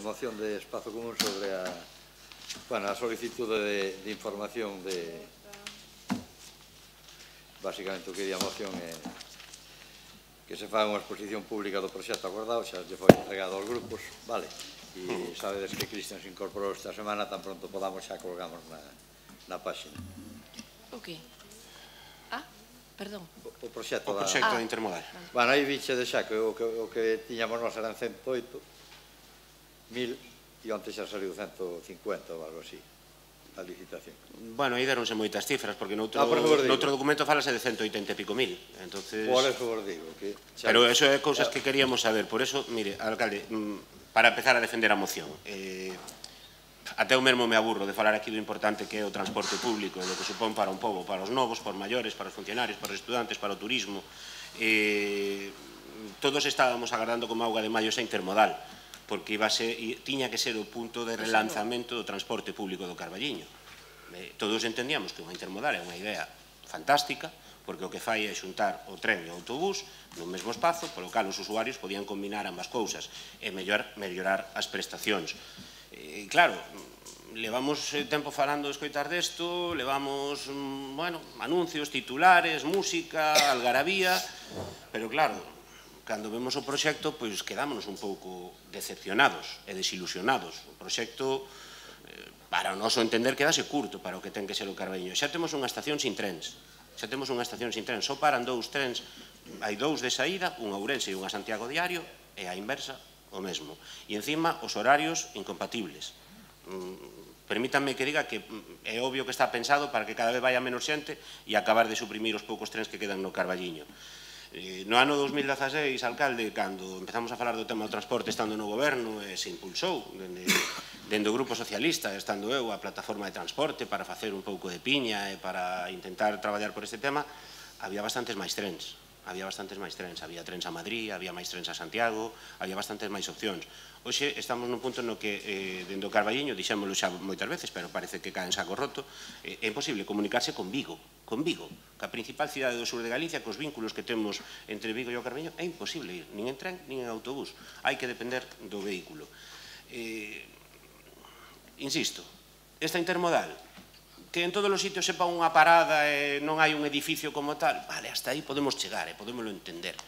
moción de Espazo Común sobre a solicitude de información de... Básicamente o que di a moción é que se faga unha exposición pública do proxecto acordado, xa lle foi entregado aos grupos, vale? E sabedes que Cristian se incorporou esta semana, tan pronto podamos xa colgamos na páxina. O que? Perdón. O proxecto da intermodal. Bueno, aí viche de xa que o que tiñamos nós eran 108.000 e onte xa saliu 150 ou algo así, a licitación. Bueno, aí deronse moitas cifras, porque noutro documento falase de 180 e pico mil. Por eso vos digo. Pero eso é cousas que queríamos saber. Por eso, mire, alcalde, para empezar a defender a moción, até eu mesmo me aburro de falar aquí do importante que é o transporte público, do que supón para un pobo, para os novos, para os maiores, para os funcionarios, para os estudantes, para o turismo. Todos estábamos agardando como auga de maio esa intermodal, porque tiña que ser o punto de relanzamento do transporte público do Carballiño. Todos entendíamos que unha intermodal é unha idea fantástica, porque o que fai é xuntar o tren e o autobús nun mesmo espazo, polo cal os usuarios podían combinar ambas cousas e mellorar as prestacións. Claro, levamos tempo falando de escoitar desto, levamos, anuncios, titulares, música, algarabía, pero claro, cando vemos o proxecto, pois quedámonos un pouco decepcionados e desilusionados. O proxecto, para o noso entender, quedase curto para o que ten que ser o Carballiño. Xa temos unha estación sin trens, só paran 2 trens, hai 2 de saída, un a Ourense e un a Santiago diario, e a inversa o mesmo. E encima os horarios incompatibles. Permítanme que diga que é obvio que está pensado para que cada vez vaya menos xente e acabar de suprimir os poucos trens que quedan no Carballiño. No ano 2016, alcalde, cando empezamos a falar do tema do transporte estando no goberno, se impulsou dende o Grupo Socialista, estando eu a plataforma de transporte para facer un pouco de piña e para intentar traballar por este tema, había bastantes máis trens. Había trens a Madrid, había máis trens a Santiago, había bastantes máis opcións. Hoxe estamos nun punto no que, dende o Carballiño, dixémolo xa moitas veces, pero parece que cae en saco roto, é imposible comunicarse con Vigo, que a principal cidade do sur de Galicia, cos vínculos que temos entre Vigo e o Carballiño, é imposible ir, nin en tren, nin en autobús. Hai que depender do vehículo. Insisto, esta intermodal, que en todos os sitios sepa unha parada e non hai un edificio como tal, vale, hasta aí podemos chegar e podémoslo entender.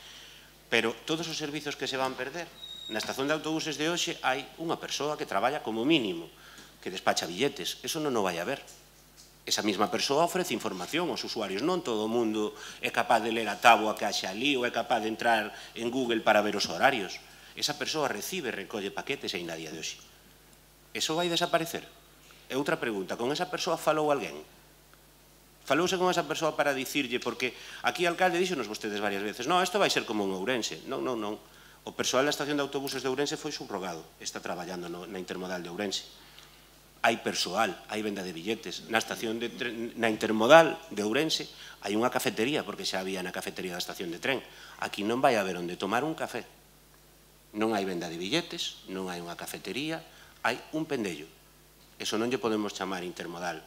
Pero todos os servizos que se van perder, na estación de autobuses de hoxe hai unha persoa que traballa como mínimo, que despacha billetes, eso non o vai a ver. Esa mesma persoa ofrece información aos usuarios, non todo o mundo é capaz de ler a táboa que haxe ali ou é capaz de entrar en Google para ver os horarios. Esa persoa recibe e recolle paquetes aínda a día de hoxe. Eso vai desaparecer? E outra pregunta, con esa persoa falou alguén? Falouse con esa persoa para dicirlle, porque aquí, alcalde, díxonos vostedes varias veces, non, isto vai ser como en Ourense. Non. O persoal da estación de autobuses de Ourense foi subrogado, está traballando na intermodal de Ourense. Hai persoal, hai venda de billetes. Na intermodal de Ourense hai unha cafetería, porque xa había na cafetería da estación de tren. Aquí non vai haber onde tomar un café. Non hai venda de billetes, non hai unha cafetería, hai un pendello. Eso non lle podemos chamar intermodal.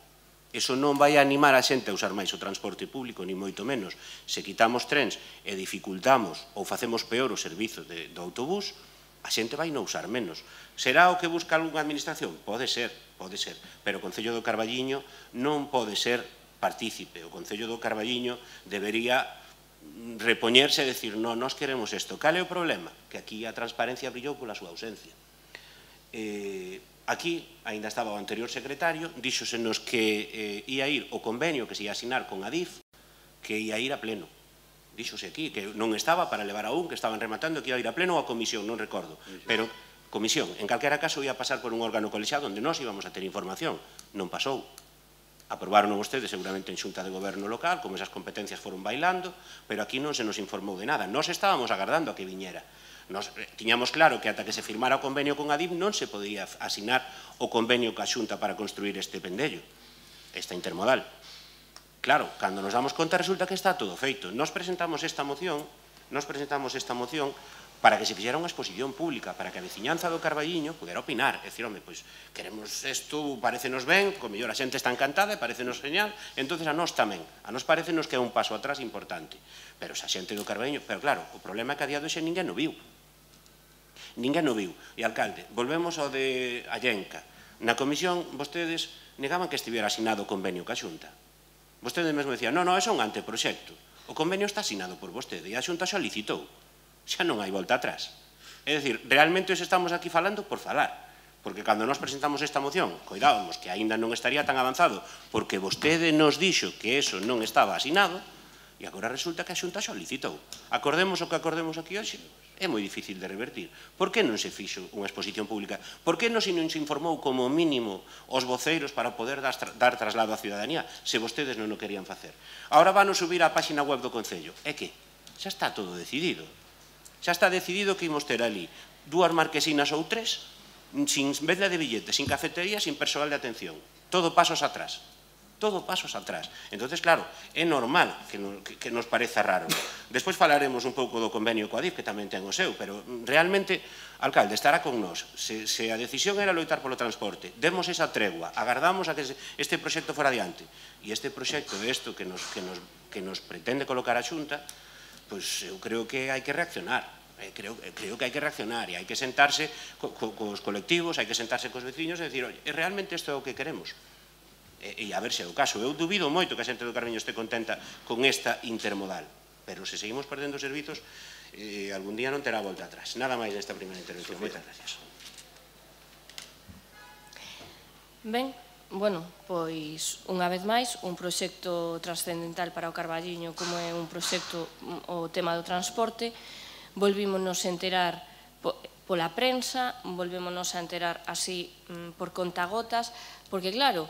Eso non vai a animar a xente a usar máis o transporte público, ni moito menos. Se quitamos trens e dificultamos ou facemos peor o servizo do autobús, a xente vai non usar menos. Será o que busca algunha administración? Pode ser, pero o Concello do Carballiño non pode ser partícipe. O Concello do Carballiño debería repoñerse e decir, non, nós queremos isto. Cal é o problema? Que aquí a transparencia brillou pola súa ausencia. Aquí, ainda estaba o anterior secretario, díxosenos que ia ir o convenio que se ia asinar con Adif, que ia ir a pleno. Díxose aquí que non estaba para levar a un, que estaban rematando, que ia ir a pleno ou a comisión, non recordo. Pero, comisión, en calquera caso ia pasar por un órgano colexiado onde nós íbamos a ter información. Non pasou. Aprobaron vostedes seguramente en xunta de goberno local, como esas competencias foron bailando, pero aquí non se nos informou de nada. Nós estábamos agardando a que viñera. Tiñamos claro que ata que se firmara o convenio con Adif non se podía asinar o convenio ca Xunta para construir este pendello, esta intermodal. Claro, cando nos damos conta resulta que está todo feito. Nos presentamos esta moción para que se fixera unha exposición pública, para que a veciñanza do Carballiño pudera opinar. É dicir, home, pois, queremos isto, parecenos ben, co mellor a xente está encantada, parecenos genial, entonces a nós tamén. A nós parecenos que é un paso atrás importante. Pero esa xente do Carballiño, pero claro, o problema é que a día de hoxe ninguén o viu. Ninguén o viu. E, alcalde, volvemos ao de Allenca. Na comisión, vostedes negaban que estivera asinado o convenio ca Xunta. Vostedes mesmo decían, non, é un anteproxecto. O convenio está asinado por vostede e a Xunta xa licitou. Xa non hai volta atrás. É dicir, realmente os estamos aquí falando por falar. Porque cando nós presentamos esta moción, coidábamos que aínda non estaría tan avanzado porque vostede nos dixo que eso non estaba asinado e agora resulta que a Xunta xa licitou. Acordemos o que acordemos aquí hoxe, é moi difícil de revertir. Por que non se fixo unha exposición pública? Por que non se informou como mínimo os voceiros para poder dar traslado á ciudadanía se vostedes non o querían facer? Agora van subir á páxina web do Concello. É que xa está todo decidido. Xa está decidido que imos ter ali 2 marquesinas ou 3 sin venda de billetes, sin cafetería, sin persoal de atención. Todo pasos atrás. Todo pasos atrás. Entonces, claro, é normal que nos pareza raro. Despois falaremos un pouco do convenio coa DIF, que tamén ten o seu, pero realmente, alcalde, estará con nós. Se a decisión era loitar polo transporte, demos esa tregua, agardamos a que este proxecto fora adiante, e este proxecto é isto que nos pretende colocar a Xunta, pois eu creo que hai que reaccionar. Creo que hai que reaccionar e hai que sentarse cos colectivos, hai que sentarse cos veciños e dicir, realmente isto é o que queremos? E a ver se é o caso. Eu dubido moito que a xente do Carballiño este contenta con esta intermodal, pero se seguimos perdendo servizos, algún día non terá volta atrás. Nada máis nesta primeira intervención. Moitas gracias. Ben, bueno, pois, unha vez máis, un proxecto trascendental para o Carballiño como é un proxecto, o tema do transporte. Volvímonos a enterar pola prensa, volvímonos a enterar así por contagotas, porque claro,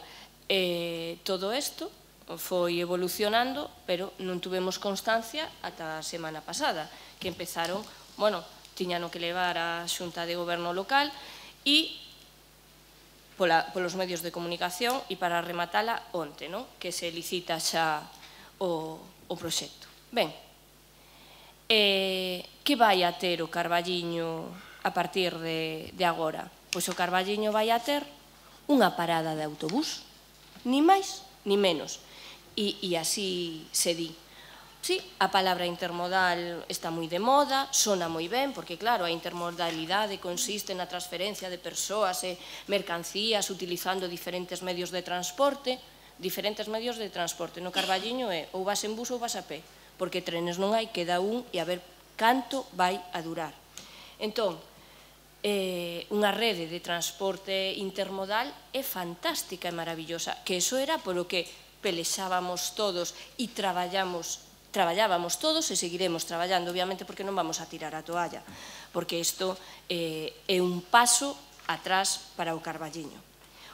todo isto foi evolucionando, pero non tuvemos constancia ata a semana pasada, que empezaron, bueno, tiñano que levar a Xunta de Goberno local e polos medios de comunicación e para rematala onte, que se licita xa o proxecto. Ben, que vai a ter o Carballiño a partir de agora? Pois o Carballiño vai a ter unha parada de autobús, ni máis ni menos, e así se di. Sí, a palabra intermodal está moi de moda, sona moi ben, porque claro, a intermodalidade consiste na transferencia de persoas e mercancías utilizando diferentes medios de transporte. No Carballiño é ou vas en bus ou vas a pé, porque trenes non hai, queda un e a ver canto vai a durar. Entón, unha rede de transporte intermodal é fantástica e maravillosa, que eso era polo que pelexábamos todos e traballábamos todos e seguiremos traballando, obviamente, porque non vamos a tirar a toalla, porque isto é un paso atrás para o Carballiño.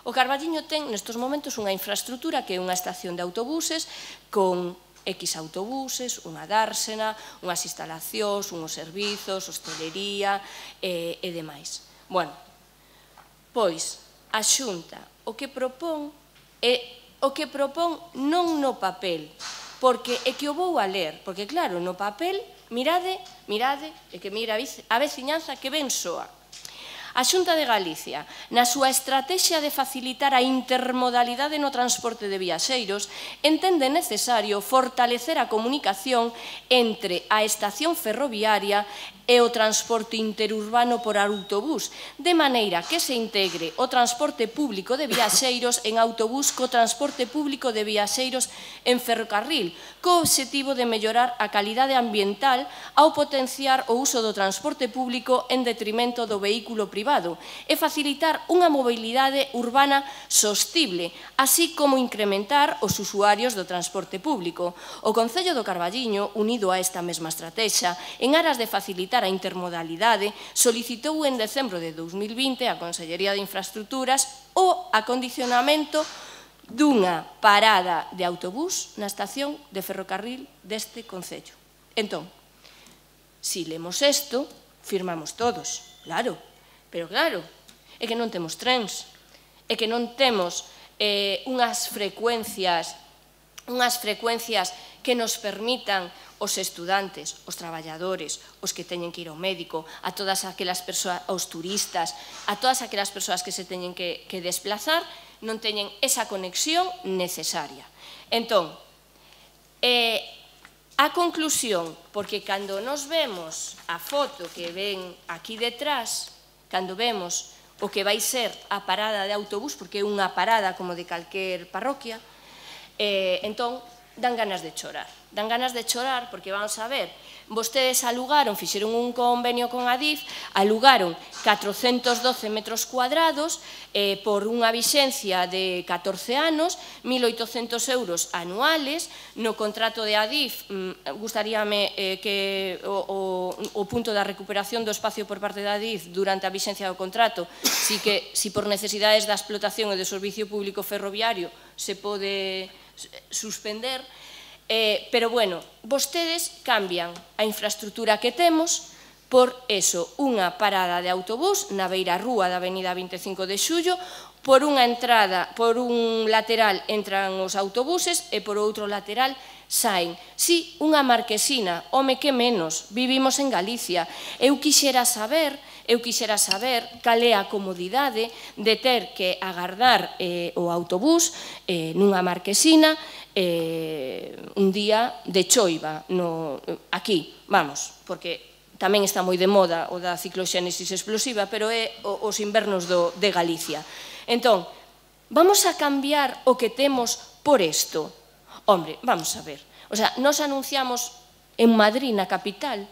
O Carballiño ten nestes momentos unha infraestructura que é unha estación de autobuses con X autobuses, unha dársena, unhas instalacións, unhos servizos, hostelería e demais. Bueno, pois a Xunta o que propón non no papel, porque é que o vou a ler, porque claro, no papel, mirade, é que mira a veciñanza que ben soa. A Xunta de Galicia, na súa estrategia de facilitar a intermodalidade no transporte de viaxeiros, entende necesario fortalecer a comunicación entre a estación ferroviaria e o transporte interurbano por autobús, de maneira que se integre o transporte público de viaxeiros en autobús co transporte público de viaxeiros en ferrocarril, co obxectivo de mellorar a calidade ambiental ao potenciar o uso do transporte público en detrimento do vehículo privado e facilitar unha mobilidade urbana sostible, así como incrementar os usuarios do transporte público. O Concello do Carballiño, unido a esta mesma estrategia, en aras de facilitar a intermodalidade, solicitou en decembro de 2020 a Consellería de Infraestructuras o acondicionamento dunha parada de autobús na estación de ferrocarril deste Concello. Entón, se lemos isto, firmamos todos, claro, pero claro, é que non temos trens, é que non temos unhas frecuencias que nos permitan os estudantes, os traballadores, os que teñen que ir ao médico, a todas aquelas persoas, aos turistas, a todas aquelas persoas que se teñen que desplazar, non teñen esa conexión necesaria. Entón, A conclusión, porque cando nos vemos a foto que ven aquí detrás, cando vemos o que vai ser a parada de autobús, porque é unha parada como de calquer parroquia, entón dan ganas de chorar. Dan ganas de chorar porque, vamos a ver, vostedes alugaron, fixeron un convenio con Adif, alugaron 412 metros cuadrados por unha vixencia de 14 anos, 1.800 euros anuales. No contrato de Adif, gustaríame que o punto da recuperación do espacio por parte da Adif durante a vixencia do contrato, si por necesidades da explotación e do servicio público ferroviario se pode suspender. Pero, bueno, vostedes cambian a infraestructura que temos por eso, unha parada de autobús na beira rúa da avenida 25 de Xullo, por unha entrada, por un lateral entran os autobuses e por outro lateral saen. Si, unha marquesina, home, que menos, vivimos en Galicia. Eu quixera saber cal é a comodidade de ter que agardar o autobús nunha marquesina un día de choiva aquí, vamos, porque tamén está moi de moda o da cicloxénesis explosiva, pero é os invernos de Galicia. Entón, vamos a cambiar o que temos por isto? Hombre, vamos a ver, o sea, nos anunciamos en Madrid, na capital,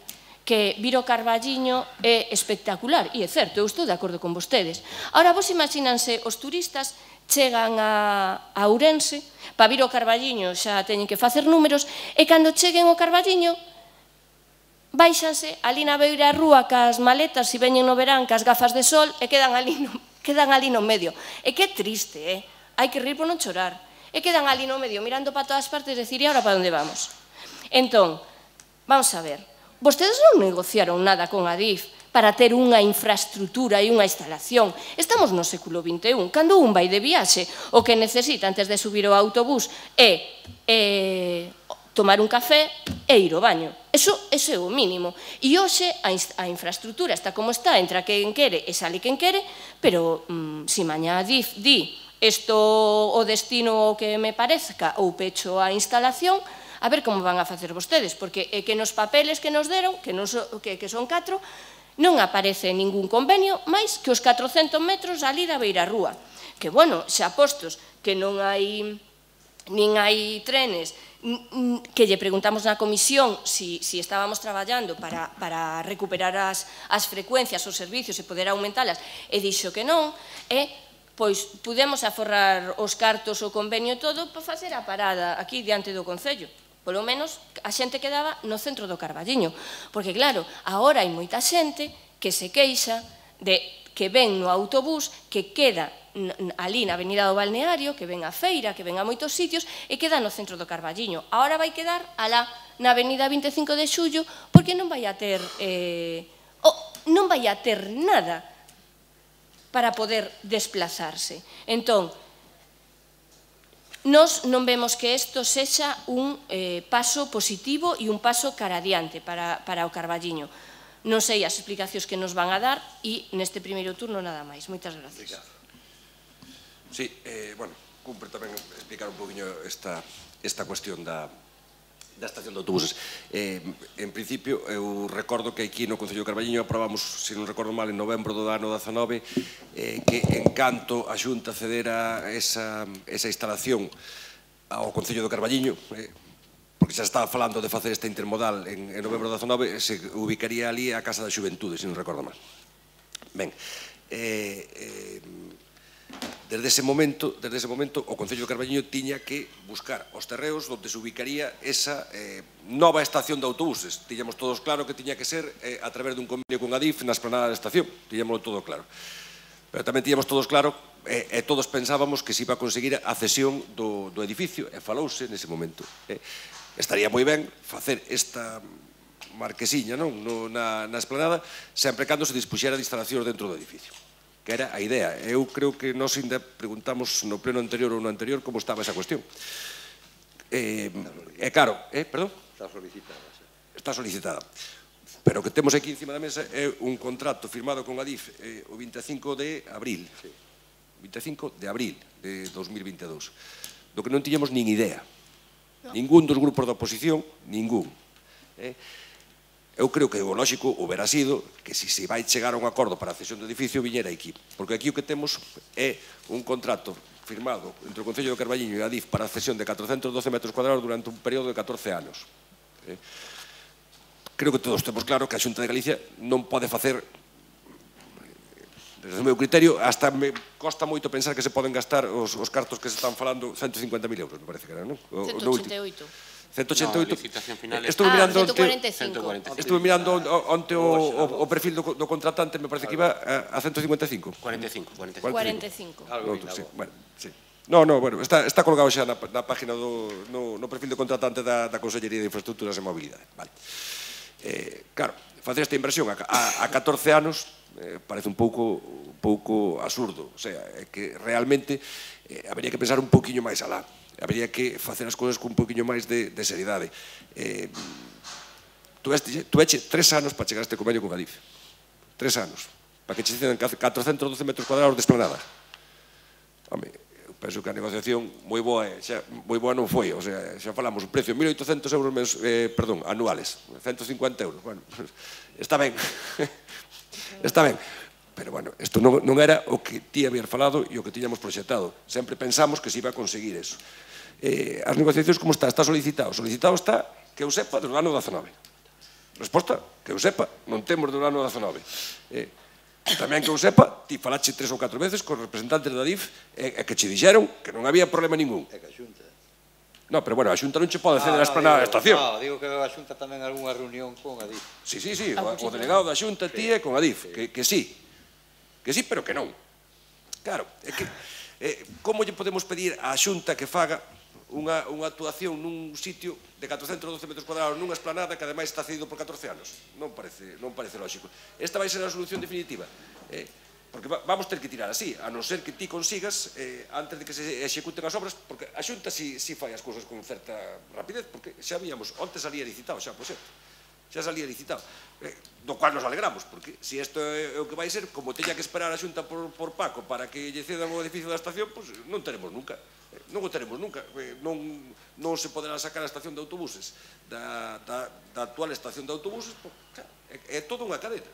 que vir o Carballiño é espectacular, e é certo, eu estou de acordo con vostedes. Ahora, vos imagínanse os turistas chegan a Ourense, para vir ao Carballiño xa teñen que facer números, e cando cheguen ao Carballiño, baixanse ali na beira rúa cas maletas, se veñen no verán, cas gafas de sol, e quedan ali no medio. E que triste, hai que rir por non chorar. E quedan ali no medio, mirando para todas partes, e decir, e agora para onde vamos? Entón, vamos a ver, vostedes non negociaron nada con Adif para ter unha infraestructura e unha instalación. Estamos no século XXI. Cando un vai de viaxe, o que necesita antes de subir ao autobús é tomar un café e ir ao baño. Eso é o mínimo. E hoxe a infraestructura está como está, entra quen quere e sale quen quere, pero se mañá Adif di isto o destino que me parezca ou pecho a instalación, a ver como van a facer vostedes, porque é que nos papeles que nos deron, que son 4, non aparece ningún convenio máis que os 400 metros ali da beira rúa. Que, bueno, xa postos que non hai trenes, que lle preguntamos na comisión si estábamos traballando para recuperar as frecuencias, os servicios e poder aumentalas, e dixo que non, pois pudemos aforrar os cartos, o convenio e todo para facer a parada aquí diante do Concello. Polo menos a xente quedaba no centro do Carballiño. Porque, claro, agora hai moita xente que se queixa de que ven no autobús, que queda ali na avenida do Balneario, que ven a feira, que ven a moitos sitios, e queda no centro do Carballiño. Agora vai quedar alá na avenida 25 de Xullo, porque non vai a ter nada para poder desplazarse. Entón, nós non vemos que isto sexa un paso positivo e un paso cara adiante para o Carballiño. Non sei as explicacións que nos van a dar e neste primeiro turno nada máis. Moitas gracias. Sí, bueno, cumpre tamén explicar un poquinho esta cuestión da estación de autobuses. En principio, eu recordo que aquí no Concello de Carballiño aprobamos, se non recordo mal, en novembro do ano 19, que en canto a Xunta cedera esa instalación ao Concello de Carballiño, porque xa estaba falando de facer esta intermodal en novembro do 19, se ubicaría ali a Casa da Xuventude, se non recordo mal. Ben, desde ese momento, o Concello de Carballiño tiña que buscar os terreos onde se ubicaría esa nova estación de autobuses. Tiñamos todos claro que tiña que ser a través dun convenio con Adif na esplanada da estación. Tiñámoslo todo claro. Pero tamén tiñamos todos claro e todos pensábamos que se iba a conseguir a cesión do edificio, e falouse nese momento. Estaría moi ben facer esta marquesiña na esplanada, sempre cando se dispuxera de instalacións dentro do edificio, que era a idea. Eu creo que nós ainda preguntamos no pleno anterior ou no anterior como estaba esa cuestión. Claro, perdón? Está solicitada. Pero o que temos aquí encima da mesa é un contrato firmado con Adif o 25 de abril. 25 de abril de 2022, do que non tiñamos nin idea. Ningún dos grupos da oposición, ningún. Eu creo que o lógico houbera sido que se vai chegar a un acordo para a cesión do edificio viñera aquí, porque aquí o que temos é un contrato firmado entre o Concello de Carballiño e a Adif para a cesión de 412 metros cuadrados durante un período de 14 anos. Creo que todos temos claro que a Xunta de Galicia non pode facer, desde o meu criterio, hasta me costa moito pensar que se poden gastar os cartos que se están falando 150.000 euros, me parece que era, non? 188. 188. No, a licitación final é... Estuve mirando 145. Estuve mirando onte o perfil do contratante, me parece que iba a 155. 45. 45. Algo Outro, sí, vinagre. bueno, sí. No, bueno, está colgado xa na página no perfil do contratante da Consellería de Infraestructuras e Mobilidade. Vale. Claro, facer esta inversión a 14 anos parece un pouco absurdo. O sea, que realmente habería que pensar un pouquiño máis alá. Habería que facer as cousas con un pouquiño máis de seriedade. Tú eche 3 anos para chegar a este convenio con Adif. 3 anos. Para que che cedan 412 metros cuadrados de esplanada. Home, eu penso que a negociación moi boa non foi. O sea, xa falamos, o precio 1.800 euros anuales. 150 euros. Bueno, está ben. Está ben. Pero, bueno, isto non era o que ti habías falado e o que tiñamos proxectado. Sempre pensamos que se iba a conseguir eso. As negociacións como está? Está solicitado. Solicitado está, que eu sepa, do ano 19. Resposta, que eu sepa, non temos do ano 19. Tamén que eu sepa, ti falache 3 ou 4 veces con representantes da DIF e que che dixeron que non había problema ningún. É que a Xunta... No, pero bueno, a Xunta non che pode ceder a esplanada da estación. No, digo que a Xunta tamén algunha reunión con a DIF. Sí, o delegado da Xunta, ti é con a DIF, que sí. Que sí, pero que non. Claro, é que como lle podemos pedir á Xunta que faga unha actuación nun sitio de 412 metros cuadrados nunha esplanada que ademais está cedido por 14 anos? Non parece lógico. Esta vai ser a solución definitiva. Porque vamos ter que tirar así, a non ser que ti consigas, antes de que se executen as obras, porque a Xunta si fai as cousas con certa rapidez, porque xa víamos, onte salía licitado xa, por certo. Xa salía licitado, do cual nos alegramos, porque se isto é o que vai ser, como teña que esperar a Xunta por Paco para que lle cedan o edificio da estación, pois non teremos nunca, non non se poderá sacar a estación de autobuses da actual estación de autobuses, é toda unha cadena.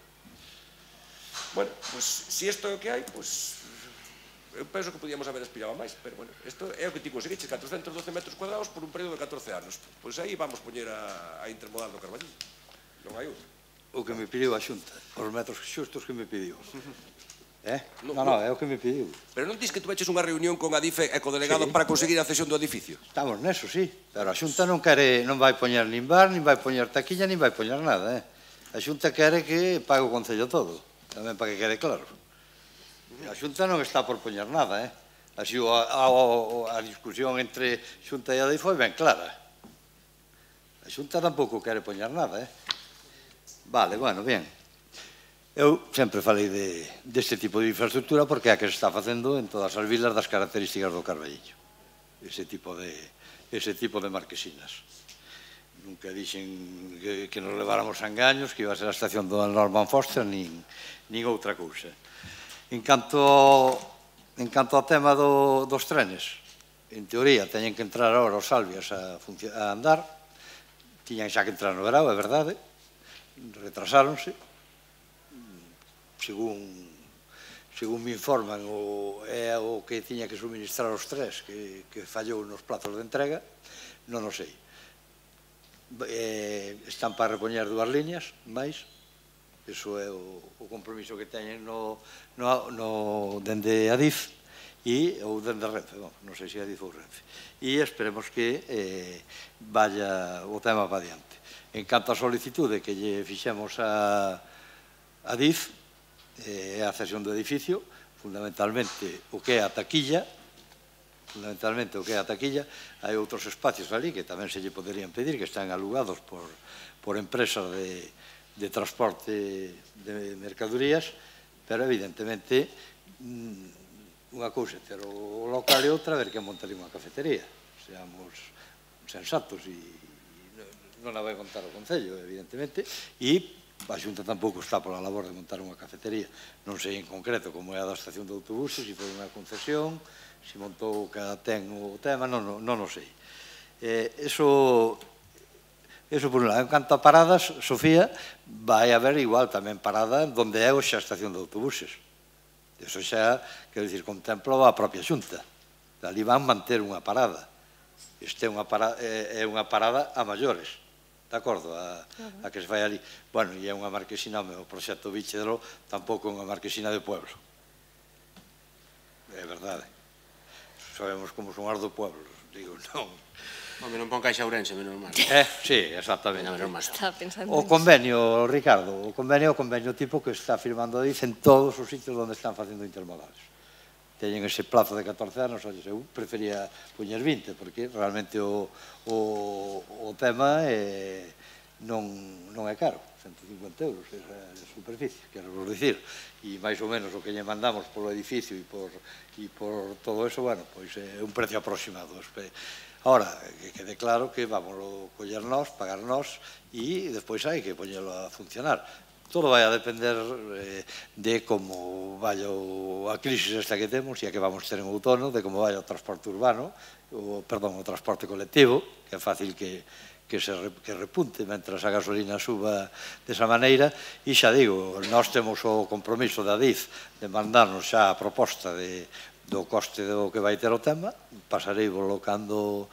Bueno, pois se isto é o que hai, pois eu penso que podíamos haber aspirado máis, pero bueno, isto é o que ti conseguiches, 412 metros cuadrados por un período de 14 anos, pois aí vamos poñer a intermodal do Carballiño. Non hai outro. O que me pediu a Xunta, os metros xustos que me pediu. Non, No, é o que me pediu. Pero non dis que tu eches unha reunión con Adif e co delegado para conseguir a cesión do edificio? Estamos neso, sí, pero a Xunta non vai poñer nin bar, nin vai poñer taquilla, nin vai poñer nada. A Xunta quere que pague o Concello todo, tamén para que quede claro. A Xunta non está por poñer nada, Así a discusión entre Xunta e Adif foi ben clara. A Xunta tampouco quere poñer nada, Vale, bueno, bien. Eu sempre falei deste tipo de infraestructura porque é a que se está facendo en todas as vilas das características do Carballiño. Ese tipo de marquesinas. Nunca dixen que nos leváramos a engaños, que iba a ser a estación do Norman Foster, nin outra cousa. En canto ao tema dos trenes, en teoría, teñen que entrar agora os Salvias a andar, tiñan xa que entrar no verao, é verdade, retrasáronse, según me informan, é o que tiña que suministrar os tres que fallou nos plazos de entrega, non o sei. Están para repoñer 2 líneas máis, iso é o compromiso que teñen dende Adif ou dende Renfe, non sei se Adif ou Renfe, e esperemos que vaya o tema para diante. En canto a solicitude que lle fixemos a Adif, é a cesión do edificio, fundamentalmente o que é a taquilla, hai outros espacios ali que tamén se lle poderían pedir, que están alugados por empresas de transporte de mercadorías, pero evidentemente unha cousa ter o local e outra ver que montaría unha cafetería. Seamos sensatos e non a vai montar o Concello, evidentemente, e a Xunta tampouco está pola labor de montar unha cafetería. Non sei en concreto como é a da estación de autobuses, se foi unha concesión, se montou cada ten o tema, non o sei. Eso por un lado. En canto a paradas, Sofía, vai haber igual tamén parada onde é hoxe a estación de autobuses. Eso xa, quero dicir, contemplo a propia Xunta. Ali van manter unha parada. Este é unha parada a maiores, de acordo, a que se vai ali. Bueno, e é unha marquesina, o proxecto Víchedro tampouco é unha marquesina de pueblo. É verdade. Sabemos como son as do pueblo, digo, non. Home, non pon Caixa Ourense, menos mal. Sí, exactamente. Estaba pensando O convenio, Ricardo, o convenio tipo que está firmando Adif en todos os sitios onde están facendo intermodales. Teñen ese plazo de 14 anos, eu prefería poñer 20, porque realmente o tema non é caro, 150 euros é a superficie, quero vos dicir, e máis ou menos o que lle mandamos polo edificio e por todo eso, bueno, pois é un precio aproximado. Ahora, que quede claro que vamos a coller nós, pagar nós, e despois hai que poñelo a funcionar. Todo vai a depender de como vai a crisis esta que temos e a que vamos ter en outono, de como vai o transporte urbano, o transporte colectivo, que é fácil que repunte mentras a gasolina suba desa maneira, e xa digo, nós temos o compromiso da Adif de mandarnos xa a proposta do coste do que vai ter o tema, pasarei volo cando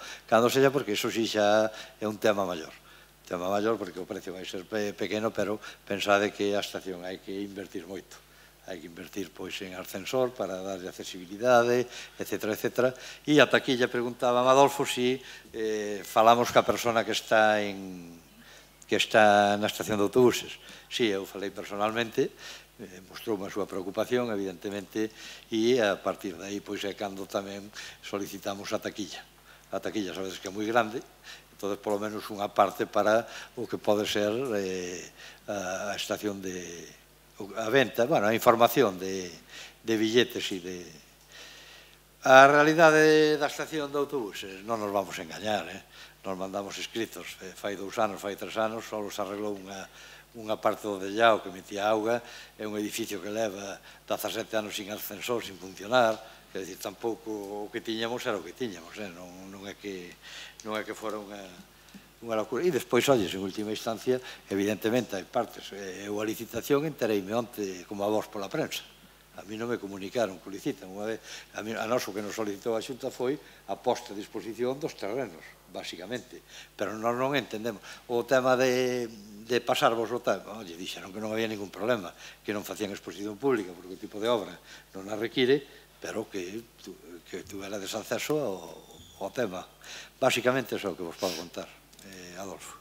sella, porque iso sí xa é un tema maior. Tema maior porque o precio vai ser pequeno, pero pensade que a estación hai que invertir moito. Hai que invertir pois en ascensor para darlle accesibilidade, etcétera, etcétera. E ata aquí lle preguntaba a Adolfo si falamos ca persona que está na estación de autobuses. Si, eu falei personalmente, mostroume a súa preocupación, evidentemente, e a partir de aí, pois é cando tamén solicitamos a taquilla. A taquilla, sabedes que é moi grande, entón, polo menos unha parte para o que pode ser a estación a venta, bueno, a información de billetes e de... A realidade da estación de autobuses non nos vamos a engañar, nos mandamos escritos, fai 2 anos, fai 3 anos, só se arreglou unha parte do dellao que metía auga, é un edificio que leva 17 anos sin ascensor, sin funcionar, quer dizer, tampouco o que tiñamos era o que tiñamos, non é que fora unha locura. E despois, olles, en última instancia, evidentemente hai partes, eu a licitación entereime onte como a vos pola prensa. A mí non me comunicaron que licitan. A nós o que nos solicitou a Xunta foi a posta a disposición dos terrenos, basicamente. Pero nós non entendemos. O tema de pasarvos o tema, oye, dixeron que non había ningún problema, que non facían exposición pública, porque o tipo de obra non a require, pero que tuverades acceso ao tema. Basicamente, é o que vos podo contar, Adolfo.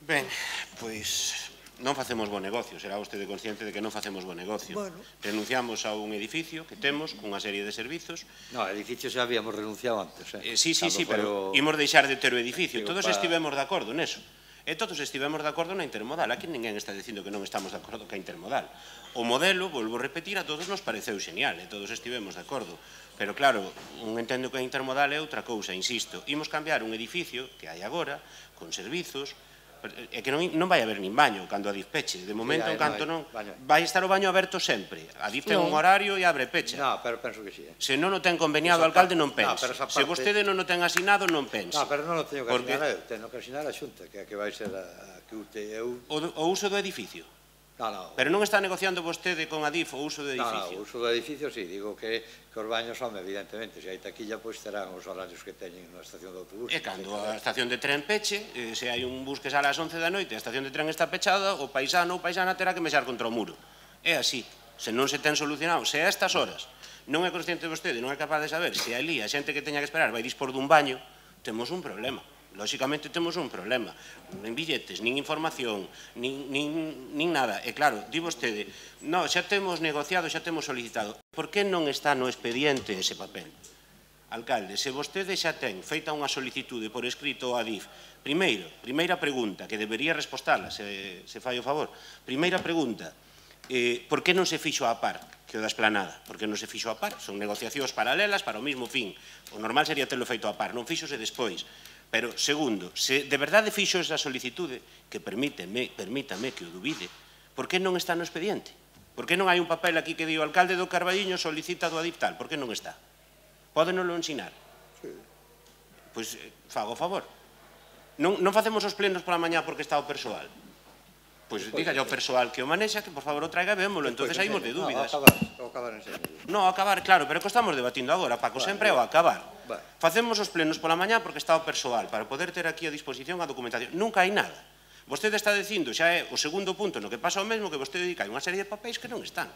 Ben, pois... non facemos bo negocio, será vostede consciente de que non facemos bo negocio. Renunciamos a un edificio que temos cunha serie de servizos. No, edificio xa habíamos renunciado antes. Sí, pero imos deixar de ter o edificio. Todos estivemos de acordo neso. E todos estivemos de acordo na intermodal. Aquí ninguén está dicindo que non estamos de acordo ca intermodal. O modelo, volvo a repetir, a todos nos pareceu xenial, e todos estivemos de acordo. Pero claro, un entendo que a intermodal é outra cousa, insisto. Imos cambiar un edificio que hai agora, con servizos, é que non vai haber nin baño cando a Adif peche. De momento, en canto non... Vai estar o baño aberto sempre. A Adif ten un horario e abre e pecha. Non, pero penso que sí. Se non o ten conveniado o alcalde, non pense. Se vostede non o ten asinado, non pense. Non, pero non o teño que asinar eu. Teño que asinar a Xunta, que vai ser a que o uso do edificio. Non. Pero non está negociando vostede con Adif o uso do edificio? Non, o uso do edificio, sí. Digo que os baños son, evidentemente, se hai taquilla, pois terán os horarios que teñen na estación de autobús. E cando a estación de tren peche, se hai un bus que sale ás 11 da noite e a estación de tren está pechada, o paisano ou paisana terá que mexar contra o muro. É así. Se non se ten solucionado, se a estas horas non é consciente vostede, non é capaz de saber se ali a xente que teña que esperar vai dispor dun baño, temos un problema. Lóxicamente temos un problema. Nin billetes, nin información, nin nada. E claro, di vostede, no, xa temos negociado, xa temos solicitado. Por que non está no expediente ese papel? Alcalde, se vostede xa ten feita unha solicitude por escrito a Adif, primeira pregunta, que debería respostala, se fai o favor. Primeira pregunta, por que non se fixo a par que o da Esplanada? Por que non se fixo a par? Son negociacións paralelas para o mesmo fin. O normal sería telo feito a par, non fixose despois. Pero, segundo, se de verdade fixo esa solicitude, que permítame que o dubide, por que non está no expediente? Por que non hai un papel aquí que di o alcalde do Carballiño solicita do Adif tal? Por que non está? Pódenoslo ensinar? Pois fago o favor. Non facemos os plenos pola mañá porque está o persoal? Pois dígalle ao persoal que o manexa que por favor o traiga e vémolo, entonces saímos de dúbidas. Ao acabar enseño. Non, ao acabar, claro, pero que estamos debatindo agora, Paco, sempre é ao acabar. Facemos os plenos pola mañá porque está o persoal, para poder ter aquí a disposición a documentación. Nunca hai nada. Vostede está dicindo, xa é o segundo punto no que pasa o mesmo, que vostede dedica unha serie de papéis que non están.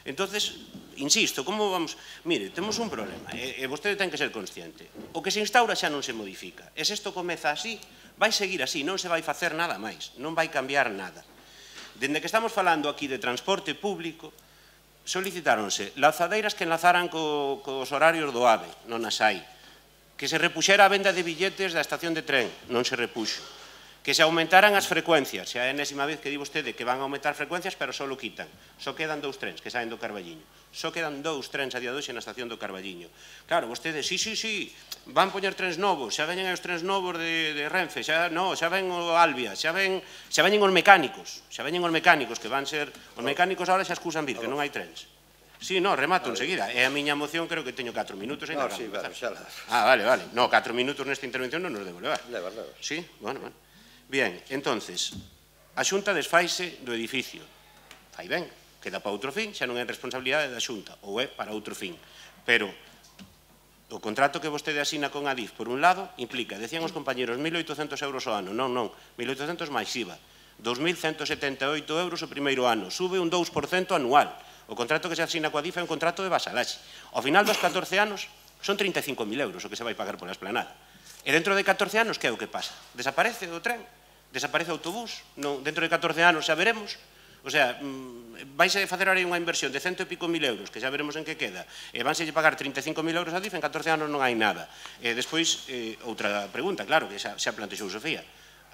Entonces, insisto, como vamos... Mire, temos un problema, e vostede ten que ser consciente. O que se instaura xa non se modifica. E se isto comeza así, vai seguir así, non se vai facer nada máis, non vai cambiar nada. Dende que estamos falando aquí de transporte público, solicitáronse lanzadeiras que enlazaran cos horarios do AVE, non as hai. Que se repuxera a venda de billetes da estación de tren, non se repuxo. Que se aumentaran as frecuencias, xa é a enésima vez que di vostede que van a aumentar frecuencias, pero só lo quitan. Só quedan 2 trens que saen do Carballiño. Só quedan 2 trens a día de hoxe na estación do Carballiño. Claro, vostede, sí, van poñer trens novos, xa veñen os trens novos de Renfe, xa ven o Albia, xa veñen os mecánicos, que van ser... Os mecánicos agora xa excusan vir, que non hai trens. Sí, remato enseguida. E a miña moción creo que teño 4 minutos. No, sí, vale, xa la... Vale. No, 4 minutos nesta intervención non nos debo levar. Levar. Sí, bueno. Bien, entonces, a Xunta desfaise do edificio. Fai ben, queda para outro fin, xa non é responsabilidade da Xunta, ou é para outro fin. Pero o contrato que vostede asina con Adif, por un lado, implica, decían os compañeros, 1.800 euros ao ano. Non, 1.800 máis IVA. 2.178 euros o primeiro ano. Sube un 2% anual. O contrato que se asina coa Adif é un contrato de vasalaxe. Ao final dos 14 anos, son 35.000 euros o que se vai pagar pola esplanada. E dentro de 14 anos, que é o que pasa? Desaparece o tren? Desaparece o autobús? Dentro de 14 anos xa veremos? O sea, vais a facer ahora unha inversión de 100 e pico mil euros, que xa veremos en que queda, e vanse pagar 35.000 euros a DIF, en 14 anos non hai nada. E despois, outra pregunta, claro, que xa plantexou Sofía.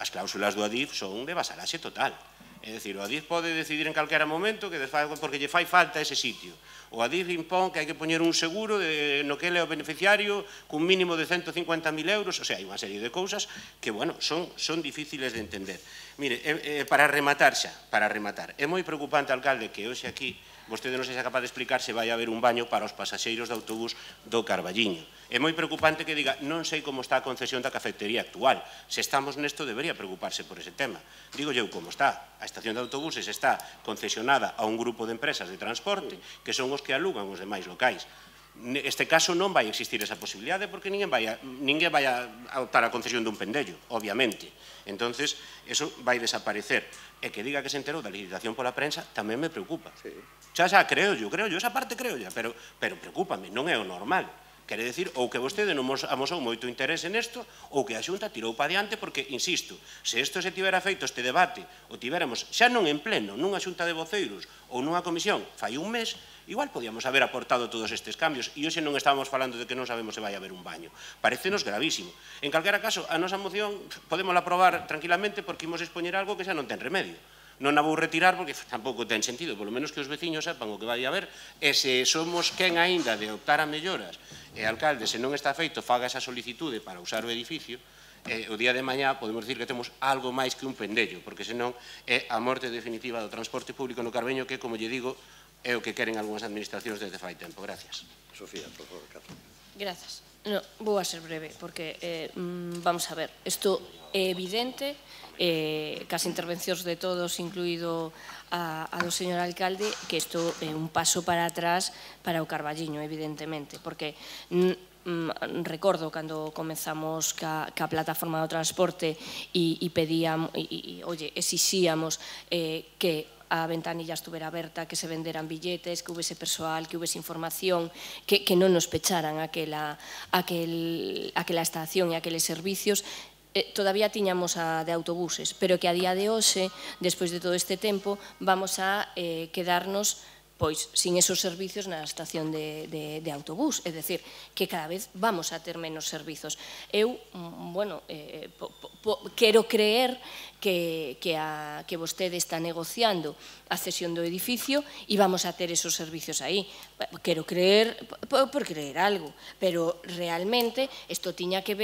As cláusulas do ADIF son de vasalaxe total. É dicir, o ADIF pode decidir en calquera momento que porque lle fai falta ese sitio. O ADIF impón que hai que poñer un seguro no que ele é o beneficiario cun mínimo de 150.000 euros, o sea, hai unha serie de cousas que, bueno, son difíciles de entender. Mire, para rematar, é moi preocupante, alcalde, que hoxe aquí vostede non sexa capaz de explicar se vai haber un baño para os pasaxeiros de autobús do Carballiño. É moi preocupante que diga, non sei como está a concesión da cafetería actual. Se estamos nesto, debería preocuparse por ese tema. Digo eu como está. A estación de autobuses está concesionada a un grupo de empresas de transporte que son os que alugan os demais locais. Neste caso non vai existir esa posibilidade porque ninguén vai a optar a concesión dun pendello, obviamente. Entonces, eso vai desaparecer. E que diga que se enterou da licitación pola prensa tamén me preocupa. Xa, creo yo, esa parte creo ya, pero preocúpame, non é o normal. Quere decir, ou que vostede non amosou moito interese nesto, ou que a Xunta tirou pa diante, porque, insisto, se isto se tivera feito este debate, o tivéramos xa non en pleno, nunha Xunta de voceiros ou nunha comisión, fai un mes, igual podíamos haber aportado todos estes cambios, e hoxe non estábamos falando de que non sabemos se vai haber un baño. Parécenos gravísimo. En calquera caso, a nosa moción podemos aprobar tranquilamente porque imos expoñer algo que xa non ten remedio. Non a vou retirar porque tampouco ten sentido, polo menos que os veciños sepan o que vai haber, e se somos quen aínda de optar a melloras, e alcalde, se non está feito, faga esa solicitude para usar o edificio, o día de mañá podemos dicir que temos algo máis que un pendello, porque senón é a morte definitiva do transporte público no Carballiño, que, como lle digo, é o que queren algunhas administracións desde fai tempo. Gracias. Sofía, por favor, Carlos. Grazas. Vou a ser breve, porque, vamos a ver, isto é evidente, cas intervencións de todos, incluído a do señor alcalde, que isto é un paso para atrás para o Carballiño, evidentemente, porque recordo cando comenzamos ca plataforma do transporte e pedíamos, exixíamos que a ventanilla estuvera aberta, que se venderan billetes, que houvese persoal, que houvese información, que non nos pecharan aquela estación e aqueles servicios. Todavía tiñamos a de autobuses, pero que a día de hoxe, despois de todo este tempo, vamos a quedarnos pois sin esos servizos na estación de autobús, é dicir, que cada vez vamos a ter menos servizos. Eu, bueno, quero creer que vostede está negociando a cesión do edificio e vamos a ter esos servizos aí. Quero creer, por creer algo, pero realmente isto tiña que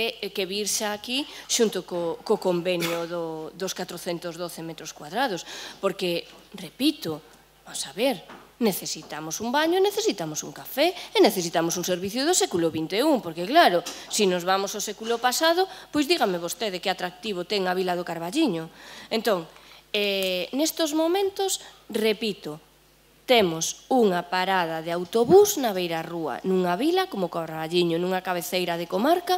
virse aquí xunto co convenio dos 412 metros cuadrados, porque, repito, vamos a ver, necesitamos un baño, necesitamos un café e necesitamos un servicio do século XXI, porque claro, se nos vamos ao século pasado, pois dígame vostede que atractivo ten a Vila do Carballiño. Entón, nestos momentos, repito, temos unha parada de autobús na beira rúa, nunha vila como Carballiño, nunha cabeceira de comarca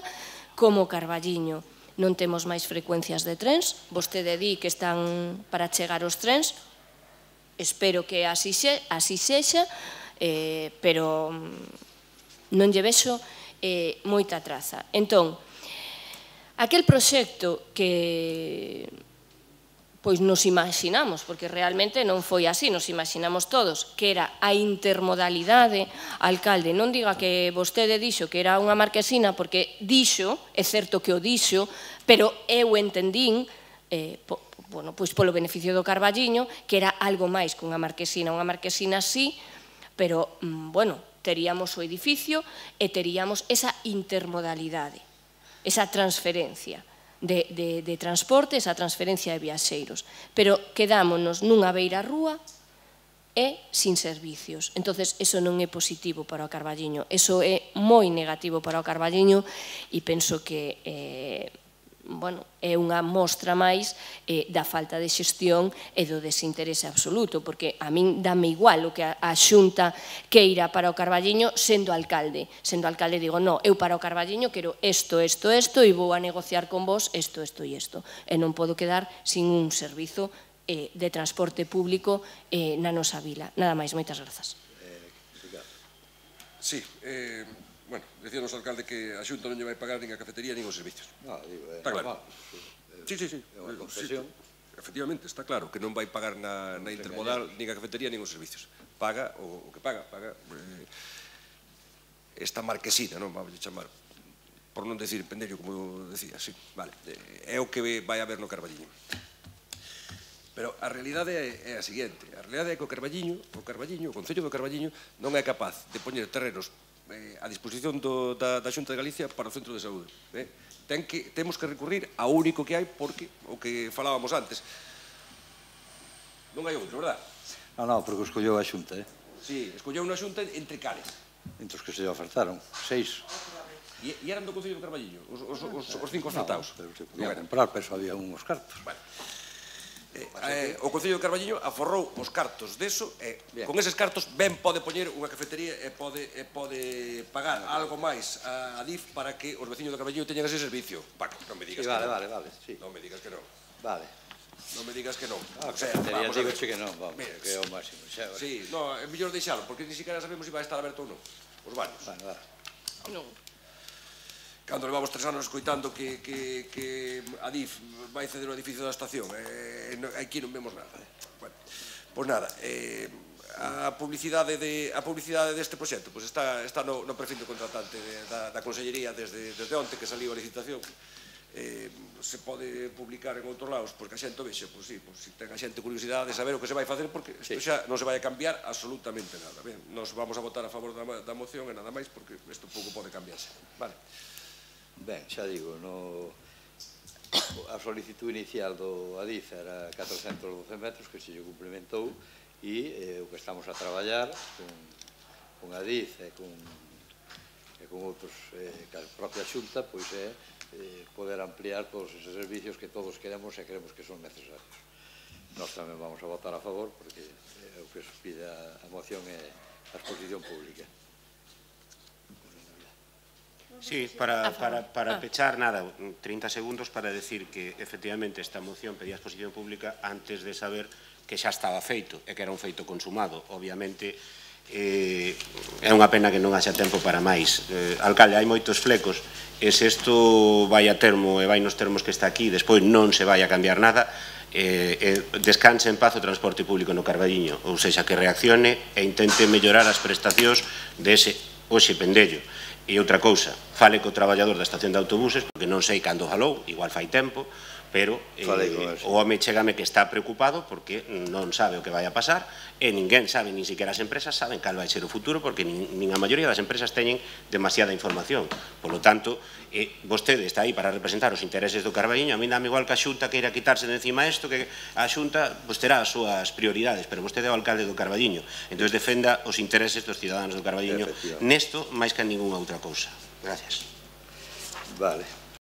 como Carballiño. Non temos máis frecuencias de trens, vostede di que están para chegar os trens, espero que así sexa, pero non lle vexo moita traza. Entón, aquel proxecto que pois nos imaginamos, porque realmente non foi así, nos imaginamos todos, que era a intermodalidade. Alcalde, non diga que vostede dixo que era unha marquesina, porque dixo, é certo que o dixo, pero eu entendín, pois polo beneficio do Carballiño, que era algo máis que unha marquesina sí, pero, teríamos o edificio e teríamos esa intermodalidade, esa transferencia de transporte, esa transferencia de viaxeiros. Pero quedámonos nunha beira rúa e sin servicios. Entonces, eso non é positivo para o Carballiño, eso é moi negativo para o Carballiño e penso que é unha mostra máis da falta de xestión e do desinterese absoluto, porque a min dame igual o que a Xunta queira para o Carballiño sendo alcalde. Sendo alcalde digo, no, eu para o Carballiño quero isto e vou a negociar con vos isto e isto. E non podo quedar sin un servizo de transporte público na nosa vila. Nada máis, moitas grazas. Sí, bueno, decíanos o alcalde que a Xunta non lle vai pagar nin a cafetería nin os servicios. Está claro. Sí. É unha concesión. Efectivamente, está claro que non vai pagar na intermodal nin a cafetería nin os servicios. Paga o que paga esta marquesina, non vamos a chamar, por non decir pendello, como decía, sí, vale. É o que vai haber no Carballiño. Pero a realidade é a seguinte, a realidade é que o Concello do Carballiño, non é capaz de poñer terrenos a disposición da Xunta de Galicia para o centro de saúde. Temos que recurrir ao único que hai, porque o que falábamos antes, non hai outro, verdad? Non, porque escolleu a Xunta, Sí, escolleu unha Xunta entre cales. Entre os que se lle ofertaron, 6. E eran do Concello do Carballiño, os 5 ofertados? Non, pero se podía comprar, pero había unhos cartos. O Concello do Carballiño aforrou os cartos deso e con eses cartos ben pode poñer unha cafetería e pode pagar algo máis a DIF para que os veciños do Carballiño teñan ese servicio. Paco, non me digas que non. Vale, Non me digas que non. Vale. Non me digas que non. A cafetería digo que non, vamos, que é o máximo. Sí, non, é mellor deixalo, porque ni siquiera sabemos se vai estar aberto ou non. Os baños. Non. Cando levamos 3 anos escoitando que a DIF vai ceder o edificio da estación, aquí non vemos nada. Pois nada, a publicidade deste proxecto está no perfil do contratante da Consellería desde onte que saliu a licitación. Se pode publicar en outros lados, porque a xente o vexe, pois sí, se ten a xente curiosidade de saber o que se vai facer, porque isto xa non se vai a cambiar absolutamente nada. Nos vamos a votar a favor da moción e nada máis, porque isto pouco pode cambiarse. Vale. Ben, xa digo, a solicitud inicial do ADIF era 412 metros, que se lle cumplimentou, e o que estamos a traballar con ADIF e con outros, que a propia Xunta, pois é poder ampliar todos eses servicios que todos queremos e creemos que son necesarios. Nós tamén vamos a votar a favor, porque o que pide a moción é a exposición pública. Sí, para pechar, nada, 30 segundos para decir que, efectivamente, esta moción pedía exposición pública antes de saber que xa estaba feito e que era un feito consumado. Obviamente, é unha pena que non haxa tempo para máis. Alcalde, hai moitos flecos, e se isto vai a termo e vai nos termos que está aquí, despois non se vai a cambiar nada, descanse en paz o transporte público no Carballiño, ou seja, que reaccione e intente mellorar as prestacións dese hoxe pendello. E outra cousa, fale co traballador da estación de autobuses, porque non sei cando falou, igual fai tempo, pero o home chégame que está preocupado porque non sabe o que vai a pasar e ninguén sabe, nin siquiera as empresas saben cal vai ser o futuro porque nin a maioría das empresas teñen demasiada información. Por lo tanto, vostede está aí para representar os intereses do Carballiño. A mí dame igual que a Xunta queira quitarse de encima isto, que a Xunta terá as súas prioridades, pero vostede é o alcalde do Carballiño. Entón defenda os intereses dos ciudadanos do Carballiño nesto máis que en ninguna outra cousa. Gracias. Vale.